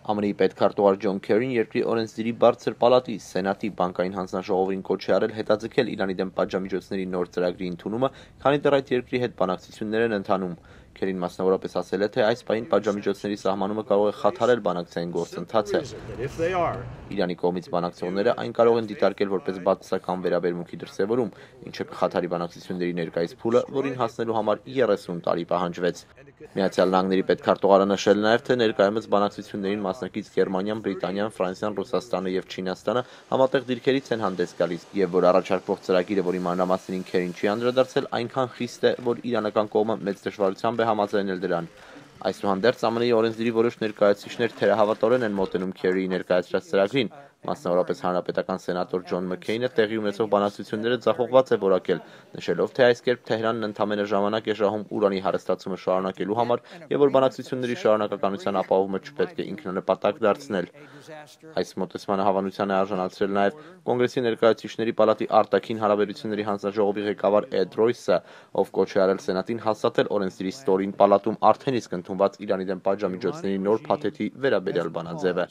ԱՄՆ-ի պետքարտուղար Ջոն Քերին երկրի օրենսդիրի բարձր պալատի սենատի բանկային հանձնաժողովին կոչ է արել հետաձգել Իրանի դեմ պատժամիջոցների նոր ծրագրի ընդունումը, քանի դեռ այդ երկրի հետ բանակցություններ են ընթանում։ Քերին մասնավորապես ասել է, թե այս պահին պատժամիջոցների սահմանումը կարող է խաթարել բանակցային գործընթացը։ Իրանի կողմից բանակցողները այն կարող են դիտարկել որպես բացասական վերաբերմունքի դրսևորում, ինչը կխաթարի բանակցությունների ներկայիս փուլը, որին հասնելու համար 30 տարի պահանջվեց։ Միացյալ Նահանգների պետքարտուղարը նշել նաև, թե ներկայումս բանակցություններին մասնակից Գերմանիան, Բրիտանիան, Ֆրանսիան, Ռուսաստանը և Չինաստանը համատեղ դիրքերից են հանդես գալիս, և որ առաջարկվող ծրագիրը, որի մանրամասներին Քերին չի անդրադարձել, այնքան խիստ է, որ իրանական կողմը մեծ դժվարությամբ է համաձայնել դրան։ Այսուհանդերձ ԱՄՆ-ի օրենսդիրի որոշ ներկայացուցիչներ թերահավատորեն են մոտենում Քերիի ներկայացրած ծրագրին, մասնավորապես հանրապետական սենատոր Ջոն Մքեյնը տեղի ունեցող բանակցությունները ձախողված է որակել, նշելով, թե այս կերպ Թեհրանն ընդամենը ժամանակ է շահում ուրանի հարստացումը շարունակելու համար և որ բանակցությունների շարունակականության ապահովումը չպետք է ինքնանպատակ դարձնել։ Այս մոտեցմանը հավանության է արժանացրել նաև Կոնգրեսի ներկայացուցիչների պալատի արտաքին հարաբերությունների հանձնաժողովի ղեկավար Էդ Ռոյսը, ով կոչ է արել սենատին հաստատել օրենսդիրի ստորին պալատում արդեն իսկ ընդունված Իրանի դեմ պատժամիջոցների նոր փաթեթի վերաբերյալ բանաձևը։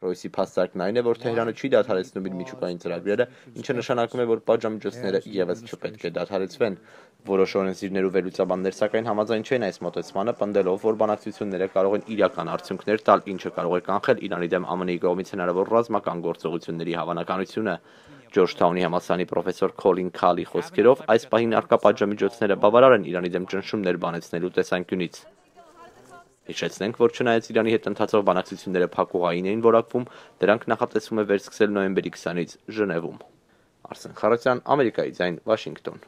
Ռոյսի փաստարկն այն է, որ Թեհրանը չի դադարեցնում իր միջուկային ծրագրերը, ինչը նշանակում է, որ պատժամիջոցները ևս չպետք է դադարեցվեն։ Որոշ օրենսդիրներ ու վերլուծաբաններ սակայն համաձայն չեն այս մոտեցմանը, պնդելով, որ բանակցությունները կարող են իրական արդյունքներ տալ, ինչը կարող է կանխել Իրանի դեմ ԱՄՆ-ի կողմից հնարավոր ռազմական գործողությունների հավանականությունը։ Ջորջթաունի համալսարանի պրոֆեսոր Քոլին Քալի խոսքերով, այս պահին առկա պատժամիջոցները բավարար են Իրանի դեմ ճնշումներ բանեցնելու տեսանկյունից։ Հիշեցնենք, որ չնայած Իրանի հետ ընթացող բանակցությունները փակուղային էին որակվում, դրանք նախատեսվում է վերսկսել նոյեմբերի 20-ից Ժնևում։ Արսեն Խարոցյան, Ամերիկայի ձայն, Վաշինգտոն։